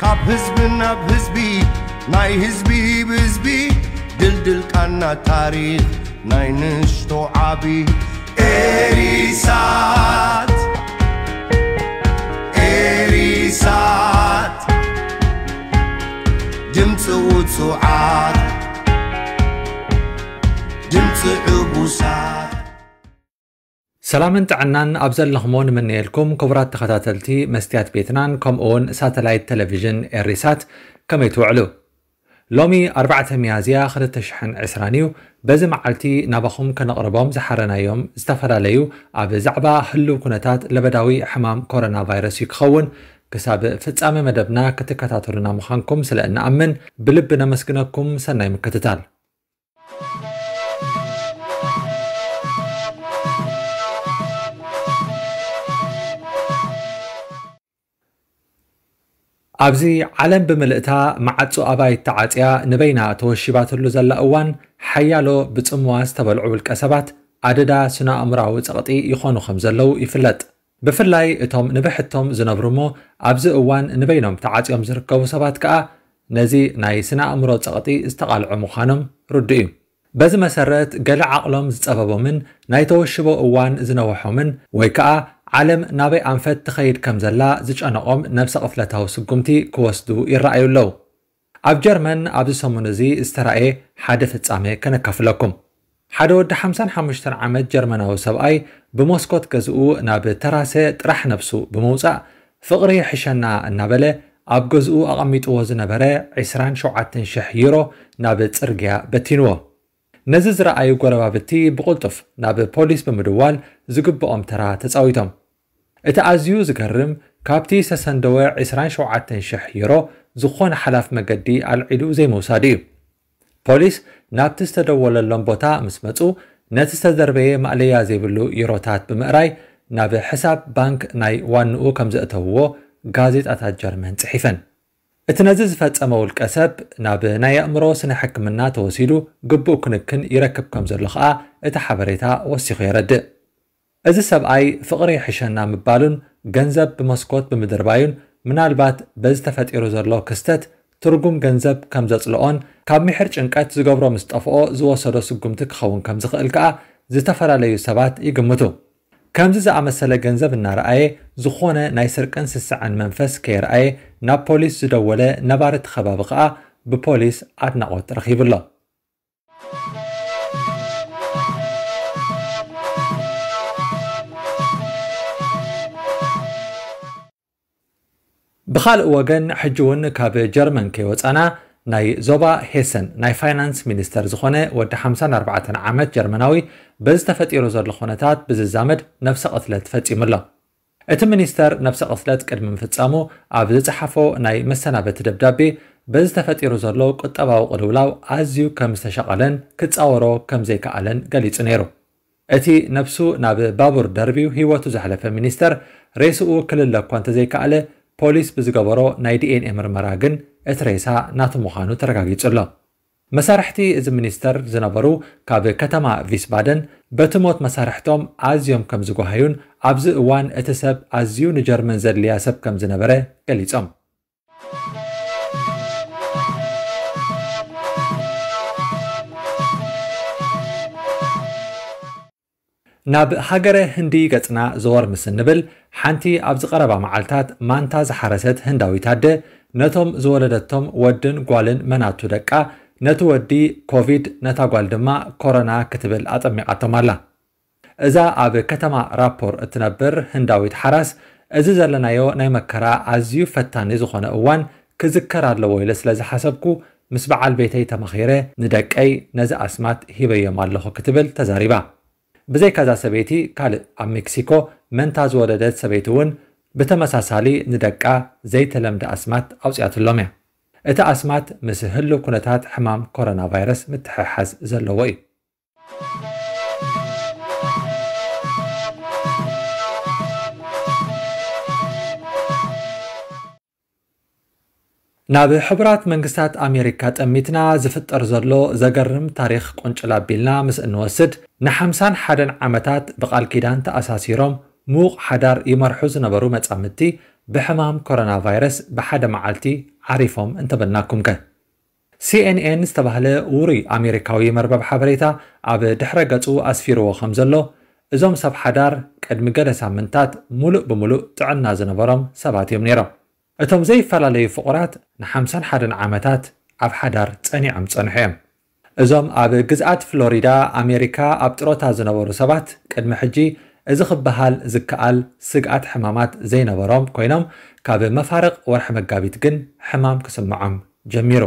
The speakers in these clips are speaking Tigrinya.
ካብ ህዝቢ ናብ ህዝቢ፣ ናይ ህዝቢ ብህዝቢ፣ ድልድል ቃና ታሪኽ ናይ ንእሽቶ ዓቢ። ኤሪሳት፣ ኤሪሳት፣ ድምፂ ውፁዓት፣ ድምፂ ዕቡሳት። ሰላምን ጥዕናን ኣብ ዘለኽሞ ንምነየልኩም ክቡራት ተኸታተልቲ መስትያት ቤትናን ከምኡ እውን ሳተላይት ቴሌቪዥን ኤሪሳት። ከመይ ትውዕሉ? ሎሚ ኣርባዕተ ሚያዝያ ክልተ ሽሕን ዕስራን እዩ። በዚ መዓልቲ ናባኹም ከነቕርቦም ዝሓረናዮም ዝተፈላለዩ ኣብ ዛዕባ ህልው ኩነታት ለበዳዊ ሕማም ኮሮና ቫይረስ እዩ ክኸውን። ክሳብ ፍጻመ መደብና ክትከታተሉና ምዃንኩም ስለ እንኣምን ብልቢ ነመስግነኩም። ሰናይ ምክትታል። ኣብዚ ዓለም ብምልእታ መዓጹ ኣባይት ተዓጽያ ንበይና ተወሺባትሉ ዘላ እዋን፣ ሓያሎ ብጽምዋ ዝተበልዑ ውልቀ ሰባት ኣደዳ ስነ-ኣእምሮኣዊ ጸቕጢ ይኾኑ ከም ዘለዉ ይፍለጥ። ብፍላይ እቶም ንብሕቶም ዝነብሩ እሞ ኣብዚ እዋን ንበይኖም ተዓጽዮም ዝርከቡ ሰባት ከኣ ነዚ ናይ ስነ-ኣእምሮ ጸቕጢ ዝተቓልዑ ምዃኖም ርዱእ እዩ። በዚ መሰረት፣ ገለ ዓቕሎም ዝጸበቦምን ናይ ተወሽቦ እዋን ዝነውሖምን ወይ ከኣ ዓለም ናበይ ኣንፈት ትኸይድ ከም ዘላ ዝጨነቖም ነብሰ ቅትለታዊ ስጉምቲ ክወስዱ ይረኣዩ ኣለዉ። ኣብ ጀርመን ኣብዚ ሰሙን እዚ ዝተራእየ ሓደ ፍጻመ ከነካፍለኩም። ሓደ ወዲ ሓምሳን ሓሙሽተን ዓመት ጀርመናዊ ሰብኣይ ብመስኮት ገዝኡ ናብ ተራሰ ጥራሕ ነብሱ ብምውጻእ፣ ፍቕሪ ይሕሸና እናበለ ኣብ ገዝኡ ኣቐሚጥዎ ዝነበረ ዕስራን ሸውዓተን ሽሕ ዩሮ ናብ ጽርግያ በቲንዎ። ነዚ ዝረኣዩ ጎረባብቲ ብቕልጡፍ ናብ ፖሊስ ብምድዋል ዝግብኦም ተራ ተጻዊቶም። እቲ ኣዝዩ ዝገርም፣ ካብቲ ዝተሰንደወ ዕስራን ሸውዓተን ሽሕ ዩሮ ዝኾነ ሓላፍ መገዲ ኣልዒሉ ዘይምውሳዱ እዩ። ፖሊስ ናብቲ ዝተደወለሎም ቦታ ምስ መጹ፣ ነቲ ዝተደርበየ ማእለያ ዘይብሉ ዩሮታት ብምእራይ ናብ ሕሳብ ባንክ ናይ ዋንኡ ከም ዘእተውዎ ጋዜጣታት ጀርመን ጽሒፈን። እቲ ነዚ ዝፈጸመ ውልቀ ሰብ ናብ ናይ ኣእምሮ ስነ ሕክምና ተወሲዱ ግቡእ ክንክን ይረክብ ከም ዘሎ ኸኣ እቲ ሓበሬታ ወሲኹ የረድእ። እዚ ሰብኣይ ፍቕሪ ይሕሸና ምባሉን ገንዘብ ብመስኮት ብምድርባዩን ምናልባት በዚ ተፈጢሩ ዘሎ ክስተት ትርጉም ገንዘብ ከም ዘጽልኦን ካብ ምሒር ጭንቀት ዝገብሮ ምስ ጠፍኦ ዝወሰዶ ስጉምቲ ክኸውን ከም ዝኽእል ከኣ ዝተፈላለዩ ሰባት ይግምቱ። ከምዚ ዝኣመሰለ ገንዘብ እናረኣየ ዝኾነ ናይ ስርቅን ስስዐን መንፈስ ከየርኣየ ናብ ፖሊስ ዝደወለ ነባሪ እቲ ከባቢ ከኣ ብፖሊስ ኣድናቖት ረኺቡ ኣሎ። ብኻልእ ወገን፣ ሕጂ እውን ካብ ጀርመን ከይወጻና፣ ናይ ዞባ ሄሰን ናይ ፋይናንስ ሚኒስተር ዝኾነ ወዲ ሓምሳን ኣርባዕተን ዓመት ጀርመናዊ በዚ ተፈጢሩ ዘሎ ኩነታት ብዝዛመድ ነብሰ ቅትለት ፈጺሙ ኣሎ። እቲ ሚኒስተር ነብሰ ቅትለት ቅድሚ ምፍጻሙ ኣብ ዝጸሓፎ ናይ መሰናበቲ ደብዳቤ፣ በዚ ተፈጢሩ ዘሎ ቁጠባዊ ቅልውላው ኣዝዩ ከም ዝተሸቐለን ክጻወሮ ከም ዘይከኣለን ገሊጹ ነይሩ። እቲ ነብሱ ናብ ባቡር ደርብዩ ህይወቱ ዘሕለፈ ሚኒስተር፣ ሬስኡ ክልለ እኳ እንተዘይከኣለ፣ ፖሊስ ብዝገበሮ ናይ ዲ ኤን ኤ ምርመራ ግን እቲ ሬሳ ናቱ ምዃኑ ተረጋጊጹ ኣሎ። መሳርሕቲ እዚ ሚኒስተር ዝነበሩ ካብ ከተማ ቪስባደን በቲ ሞት መሳርሕቶም ኣዝዮም ከም ዝጓሃዩን ኣብዚ እዋን እቲ ሰብ ኣዝዩ ንጀርመን ዘድልያ ሰብ ከም ዝነበረ ገሊጾም። ናብ ሃገረ ህንዲ ገጽና ዘወር ምስ እንብል፣ ሓንቲ ኣብዚ ቀረባ መዓልታት ማንታ ዝሓረሰት ህንዳዊት ኣደ፣ ነቶም ዝወለደቶም ወድን ጓልን መናቱ ደቃ፣ ነቲ ወዲ ኮቪድ፣ ነታ ጓል ድማ ኮሮና ክትብል ኣጠሚቓቶም ኣላ። እዛ ኣብ ከተማ ራፖር እትነብር ህንዳዊት ሓራስ፣ እዚ ዘለናዮ ናይ መከራ ኣዝዩ ፈታኒ ዝኾነ እዋን ክዝከር ኣለዎ ኢለ ስለ ዝሓሰብኩ፣ ምስ በዓል ቤተይ ተማኺረ ንደቀይ ነዚ ኣስማት ሂበዮም ኣለኹ ክትብል ተዛሪባ። ብዘይካዛ ሰበይቲ፣ ካልእ ኣብ ሜክሲኮ መንታ ዝወለደት ሰበይቲ እውን ብተመሳሳሊ ንደቃ ዘይተለምደ ኣስማት ኣውፅኣትሎም እያ። እቲ ኣስማት ምስ ህልው ኩነታት ሕማም ኮሮና ቫይረስ ምትሕሓዝ ዘለዎ እዩ። ናብ ሕቡራት መንግስታት ኣሜሪካ ጠሚትና ዝፍጠር ዘሎ ዘገርም ታሪኽ ቁንጭል ኣቢልና ምስ እንወስድ፣ ንሓምሳን ሓደን ዓመታት ብቓል ኪዳን ተኣሳሲሮም ምዉቕ ሓዳር ይመርሑ ዝነበሩ መጻምድቲ ብሕማም ኮሮና ቫይረስ ብሓደ መዓልቲ ዓሪፎም እንተበልናኩም ከ? ሲኤንኤን ዝተባህለ ውሩይ ኣሜሪካዊ መርበብ ሓበሬታ ኣብ ድሕረ ገጹ ኣስፊርዎ ከም ዘሎ፣ እዞም ሰብ ሓዳር ቅድሚ ገለ ሳምንታት ሙሉእ ብሙሉእ ጥዕና ዝነበሮም ሰባት እዮም ነይሮም። እቶም ዘይፈላለዩ ፍቑራት ንሓምሳን ሓደን ዓመታት ኣብ ሓዳር ጸኒዖም ጸንሑ እዮም። እዞም ኣብ ግዝኣት ፍሎሪዳ ኣሜሪካ ኣብ ጥሮታ ዝነበሩ ሰባት ቅድሚ ሕጂ እዚ ክበሃል ዝከኣል ስግኣት ሕማማት ዘይነበሮም ኮይኖም፣ ካብ መፋርቕ ወርሒ መጋቢት ግን ሕማም ክስምዖም ጀሚሩ።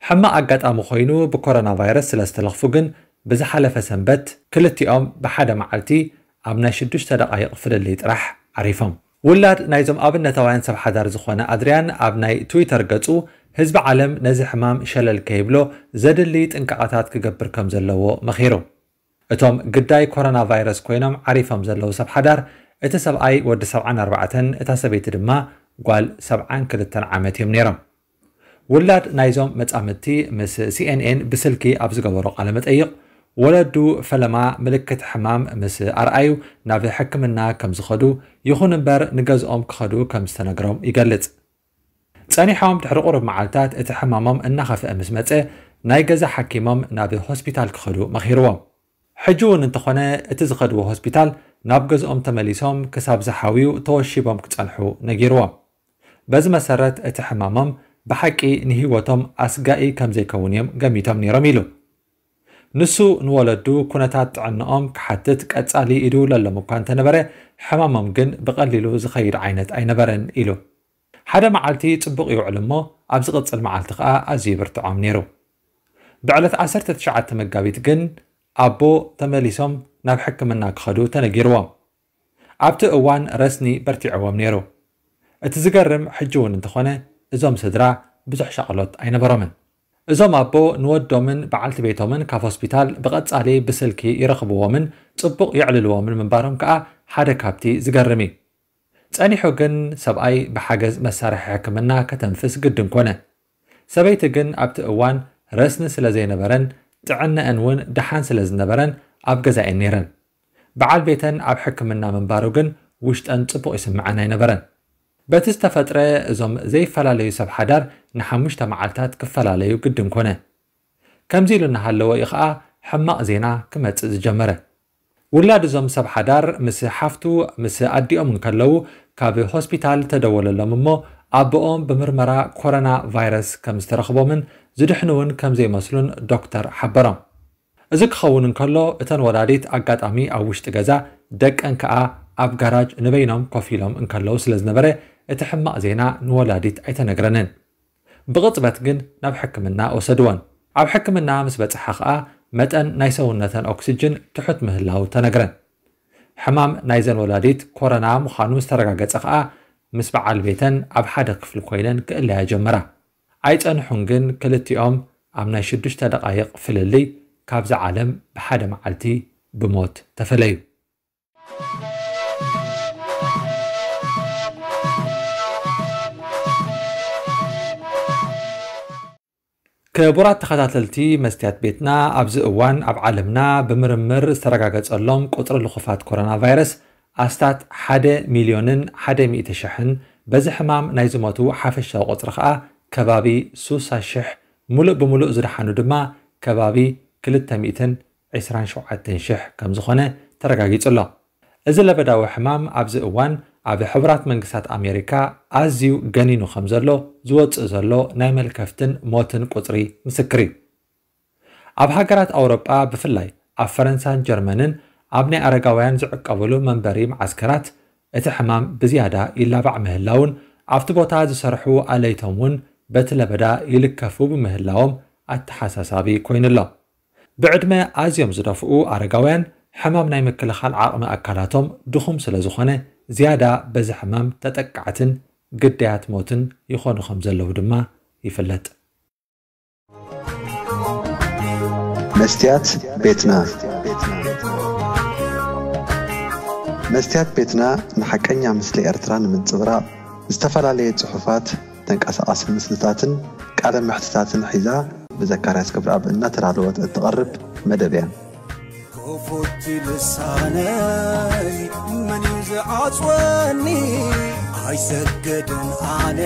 ሕማቕ ኣጋጣሚ ኮይኑ ብኮሮና ቫይረስ ስለ ዝተለኽፉ ግን ብዝሓለፈ ሰንበት ክልቲኦም ብሓደ መዓልቲ ኣብ ናይ ሽዱሽተ ደቓይቕ ፍልልይ ጥራሕ ዓሪፎም። ውላድ ናይዞም ኣብነታውያን ሰብ ሓዳር ዝኾነ ኣድርያን ኣብ ናይ ትዊተር ገጹ፣ ህዝቢ ዓለም ነዚ ሕማም ሸለል ከይብሎ ዘድሊ ጥንቃቐታት ክገብር ከም ዘለዎ መኺሩ። እቶም ግዳይ ኮሮና ቫይረስ ኮይኖም ዓሪፎም ዘለዉ ሰብ ሓዳር፣ እቲ ሰብኣይ ወዲ ሰብዓን ኣርባዕተን፣ እታ ሰበይቲ ድማ ጓል ሰብዓን ክልተን ዓመት እዮም ነይሮም። ውላድ ናይዞም መጻምድቲ ምስ ሲኤንኤን ብስልኪ ኣብ ዝገበሮ ቃለ መጠይቕ፣ ወለዱ ፈለማ ምልክት ሕማም ምስ ኣርኣዩ ናብ ሕክምና ከም ዝኸዱ፣ ይኹን እምበር ንገዝኦም ክኸዱ ከም ዝተነግሮም ይገልጽ። ጸኒሖም ድሕሪ ቁሩብ መዓልታት እቲ ሕማሞም እናኸፍአ ምስ መጸ፣ ናይ ገዛ ሓኪሞም ናብ ሆስፒታል ክኸዱ መኺርዎም። ሕጂ እውን እንተኾነ እቲ ዝኸድዎ ሆስፒታል ናብ ገዝኦም ተመሊሶም ክሳብ ዝሓውዩ ተወሺቦም ክጸንሑ ነጊርዎም። በዚ መሰረት እቲ ሕማሞም ብሓቂ ንህይወቶም ኣስጋኢ ከም ዘይከውን እዮም ገሚቶም ነይሮም ኢሉ። ንሱ ንወለዱ ኩነታት ጥዕንኦም ክሓትት ቀጻሊ ይድውለሎም እኳ እንተነበረ፣ ሕማሞም ግን ብቐሊሉ ዝኸይድ ዓይነት ኣይነበረን ኢሉ። ሓደ መዓልቲ ጽቡቕ ይውዕል እሞ፣ ኣብ ዝቕጽል መዓልቲ ከኣ ኣዝዩ ይብርትዖም ነይሩ። ብዕለት ዓሰርተ ትሽዓተ መጋቢት ግን ኣቦ ተመሊሶም ናብ ሕክምና ክኸዱ ተነጊርዎም። ኣብቲ እዋን ረስኒ በርቲዕዎም ነይሩ። እቲ ዝገርም ሕጂ እውን እንተኾነ፣ እዞም ስድራ ብዙሕ ሻቕሎት ኣይነበሮምን። እዞም ኣቦ ንወዶምን በዓልቲ ቤቶምን ካብ ሆስፒታል ብቐጻሊ ብስልኪ ይረኽብዎምን ጽቡቕ የዕልልዎምን ምንባሮም ከኣ ሓደ ካብቲ ዝገርም እዩ። ጸኒሑ ግን ሰብኣይ ብሓገዝ መሳርሒ ሕክምና ከተንፍስ ግድን ኮነ። ሰበይቲ ግን ኣብቲ እዋን ረስኒ ስለ ዘይነበረን ጥዕነአን እውን ደሓን ስለ ዝነበረን ኣብ ገዛ እየን ነይረን። በዓል ቤተን ኣብ ሕክምና ምንባሩ ግን ውሽጠን ጽቡቕ ይስምዐን ኣይነበረን። በቲ ዝተፈጥረ እዞም ዘይፈላለዩ ሰብ ሓዳር ንሓሙሽተ መዓልታት ክፈላለዩ ግድን ኮነ። ከምዚ ኢሉ እናሃለወ እዩ ኸኣ ሕማቕ ዜና ክመጽእ ዝጀመረ። ውላድ እዞም ሰብ ሓዳር ምስ ሓፍቱ ምስ ኣዲኦም እንከለዉ ካብ ሆስፒታል ተደወለሎም እሞ ኣቦኦም ብምርመራ ኮሮና ቫይረስ ከም ዝተረኽቦምን ዝድሕኑ እውን ከም ዘይመስሉን ዶክተር ሓበሮም። እዚ ክኸውን እንከሎ እተን ወላዲት ኣጋጣሚ ኣብ ውሽጢ ገዛ ደቀን ከኣ ኣብ ጋራጅ ንበይኖም ኮፍ ኢሎም እንከለዉ ስለ ዝነበረ እቲ ሕማቕ ዜና ንወላዲት ኣይተነግረንን። ብቕጽበት ግን ናብ ሕክምና ወሰድወን። ኣብ ሕክምና ምስ በጽሓ ኸኣ መጠን ናይ ሰውነተን ኦክስጅን ትሑት ምህላው ተነግረን። ሕማም ናይዘን ወላዲት ኮረና ምዃኑ ምስ ተረጋገጸ ኸኣ ምስ በዓል ቤተን ኣብ ሓደ ክፍሊ ኮይነን ክእለያ ጀመራ። ኣይጸንሑን ግን ክልቲኦም ኣብ ናይ ሽዱሽተ ደቓይቕ ፍልልይ ካብዛ ዓለም ብሓደ መዓልቲ ብሞት ተፈለዩ። ክቡራት ተኸታተልቲ መስትያት ቤትና፣ ኣብዚ እዋን ኣብ ዓለምና ብምርምር ዝተረጋገጸሎም ቁጽሪ ልኹፋት ኮሮና ቫይረስ ኣስታት ሓደ ሚልዮንን ሓደ ሚእቲ ሽሕን፣ በዚ ሕማም ናይ ዝሞቱ ሓፈሻዊ ቁጽሪ ኸኣ ከባቢ ሱሳ ሽሕ፣ ሙሉእ ብምሉእ ዝደሓኑ ድማ ከባቢ ክልተ ሚእትን ዕስራን ሸውዓተን ሽሕ ከም ዝኾነ ተረጋጊጹ ኣሎ። እዚ ለበዳዊ ሕማም ኣብዚ እዋን ኣብ ሕቡራት መንግስታት ኣሜሪካ ኣዝዩ ገኒኑ ከም ዘሎ ዝወጽእ ዘሎ ናይ መልከፍትን ሞትን ቁጽሪ ምስክር እዩ። ኣብ ሃገራት ኣውሮጳ ብፍላይ ኣብ ፈረንሳን ጀርመንን ኣብ ናይ ኣረጋውያን ዝዕቀብሉ መንበሪ መዓስከራት እቲ ሕማም ብዝያዳ ይላባዕ ምህላውን ኣብቲ ቦታ ዝሰርሑ ኣለይቶም እውን በቲ ለበዳ ይልከፉ ብምህላዎም ኣተሓሳሳቢ ኮይኑ ኣሎ። ብዕድመ ኣዝዮም ዝደፍኡ ኣረጋውያን ሕማም ናይ ምክልኻል ዓቕሚ ኣካላቶም ድኹም ስለ ዝኾነ ዝያዳ በዚ ሕማም ተጠቃዕትን ግዳያት ሞትን ይኾኑ ከም ዘለዉ ድማ ይፍለጥ። መስትያት ቤትና። መስትያት ቤትና ንሓቀኛ ምስሊ ኤርትራ ንምንጽብራቕ ዝተፈላለየ ጽሑፋት፣ ተንቀሳቓሲ ምስልታትን ቃለ መሕትታትን ሒዛ ብዘካርያስ ገብረኣብ እናተዳለወት እትቐርብ መደብ እያ። ክፉት ልሳነይ መን እዩ ዝዓጽወኒ? ኣይሰግድን ኣነ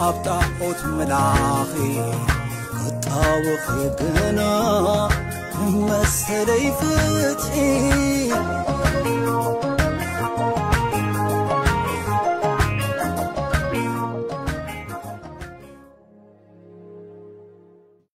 ኣብ ጣዖት ምላኺ ክጣወኺ ግና መሰለይ ፍትሒ